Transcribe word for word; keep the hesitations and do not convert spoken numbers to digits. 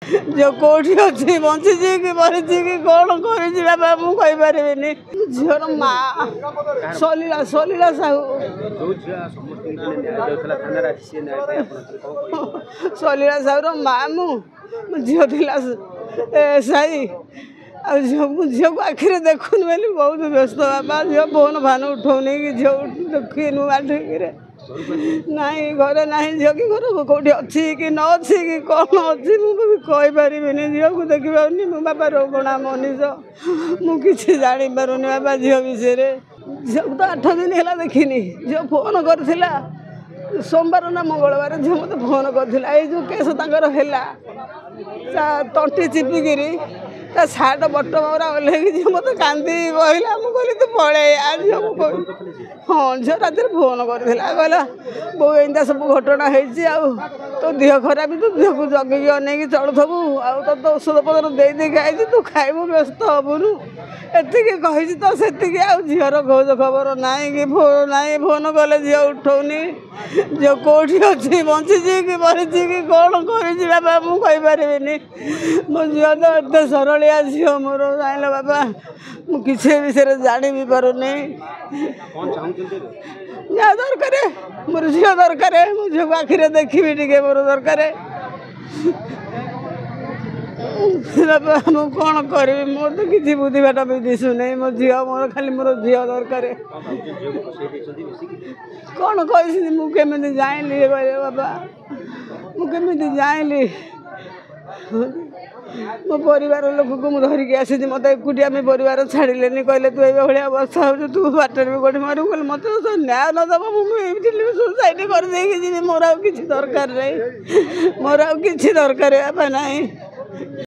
ଝିଅ କେଉଁଠି ଅଛି, ବଞ୍ଚିଛି କି ମରିଛି କି କ'ଣ କରିଛି ବାପା ମୁଁ କହିପାରିବିନି। ଝିଅର ମା ସଲୀଳା, ସଲୀଳା ସାହୁ। ସଲୀଳା ସାହୁର ମା ମୁଁ। ମୋ ଝିଅ ଥିଲା ସାଇ, ଆଉ ଝିଅ ମୁଁ ଝିଅକୁ ଆଖିରେ ଦେଖୁନି ବୋଲି ବହୁତ ବ୍ୟସ୍ତ ବାପା। ଝିଅ ଫୋନ୍ ଫାନ୍ ଉଠଉନି କି ଝିଅ ଦେଖିନୁ ଠିକରେ ନାହିଁ, ଘରେ ନାହିଁ ଝିଅ କି ଘର କେଉଁଠି ଅଛି କି ନ ଅଛି କି କ'ଣ ଅଛି ମୁଁ ବି କହିପାରିବିନି। ଝିଅକୁ ଦେଖିପାରୁନି ମୁଁ ବାପା, ରୋଗଣା ମଣିଷ, ମୁଁ କିଛି ଜାଣିପାରୁନି ବାପା ଝିଅ ବିଷୟରେ। ଝିଅକୁ ତ ଆଠ ଦିନ ହେଲା ଦେଖିନି। ଝିଅ ଫୋନ୍ କରିଥିଲା ସୋମବାର ନା ମଙ୍ଗଳବାର, ଝିଅ ମୋତେ ଫୋନ୍ କରିଥିଲା। ଏଇ ଯେଉଁ କେସ୍ ତାଙ୍କର ହେଲା, ତା ତଣ୍ଟି ଚିପିକିରି ତା ସାର୍ଟ ବଟମ ଗୁରା ଓହ୍ଲେଇକି ଝିଅ ମୋତେ କାନ୍ଦି କହିଲା। ମୁଁ କହିଲି ତୁ ପଳେଇ ଆ। ଝିଅକୁ କହିଲି, ହଁ ଝିଅ ରାତିରେ ଫୋନ୍ କରିଥିଲା, କହିଲା ବୋଉ ଏମିତିଆ ସବୁ ଘଟଣା ହେଇଛି, ଆଉ ତୋ ଦେହ ଖରାପ, ତୁ ଦେହକୁ ଜଗିକି ଅନେଇକି ଚଳୁଥିବୁ, ଆଉ ତୋତେ ଔଷଧ ପତ୍ର ଦେଇ ଦେଇକି ଆଇଛି, ତୁ ଖାଇବୁ, ବ୍ୟସ୍ତ ହେବୁନୁ, ଏତିକି କହିଛି ତ ସେତିକି। ଆଉ ଝିଅର ଖୋଜ ଖବର ନାହିଁ କି ଫୋନ୍ ନାହିଁ। ଫୋନ୍ କଲେ ଝିଅ ଉଠଉନି। ଝିଅ କେଉଁଠି ଅଛି, ବଞ୍ଚିଛି କି ମରିଛି କି କ'ଣ କରିଛି ବାପା ମୁଁ କହିପାରିବିନି। ମୋ ଝିଅ ତ ଏତେ ସରଳିଆ ଝିଅ ମୋର, ଜାଣିଲ ବାପା, ମୁଁ କିଛି ବିଷୟରେ ଜାଣି ବି ପାରୁନି। ଯାହା ଦରକାର ମୋର ଝିଅ ଦରକାର, ମୋ ଝିଅକୁ ଆଖିରେ ଦେଖିବି ଟିକେ ମୋର ଦରକାର ବାପା। ମୁଁ କ'ଣ କରିବି? ମୋର ତ କିଛି ବୁଦ୍ଧି ବାଟ ବି ଦିଶୁନାହିଁ। ମୋ ଝିଅ ମୋର, ଖାଲି ମୋର ଝିଅ ଦରକାର। କ'ଣ କହିଛନ୍ତି ମୁଁ କେମିତି ଜାଣିଲି କହିଲେ ବାପା? ମୁଁ କେମିତି ଜାଣିଲି? ମୋ ପରିବାର ଲୋକକୁ ମୁଁ ଧରିକି ଆସିଛି। ମୋତେ ଏକୁଟିଆ ଆମେ ପରିବାର ଛାଡ଼ିଲେନି, କହିଲେ ତୁ ଏଇଭଳିଆ ଅବସ୍ଥା ହେଉଛୁ, ତୁ ବାଟରେ ବି କେଉଁଠି ମରିବୁ। କହିଲେ ମୋତେ ତ ନ୍ୟାୟ ନ ଦେବ ମୁଁ ଏଇଠି ସୁସାଇଡ଼ କରିଦେଇକି ଯିବି। ମୋର ଆଉ କିଛି ଦରକାର ନାହିଁ, ମୋର ଆଉ କିଛି ଦରକାର ବାପା ନାହିଁ।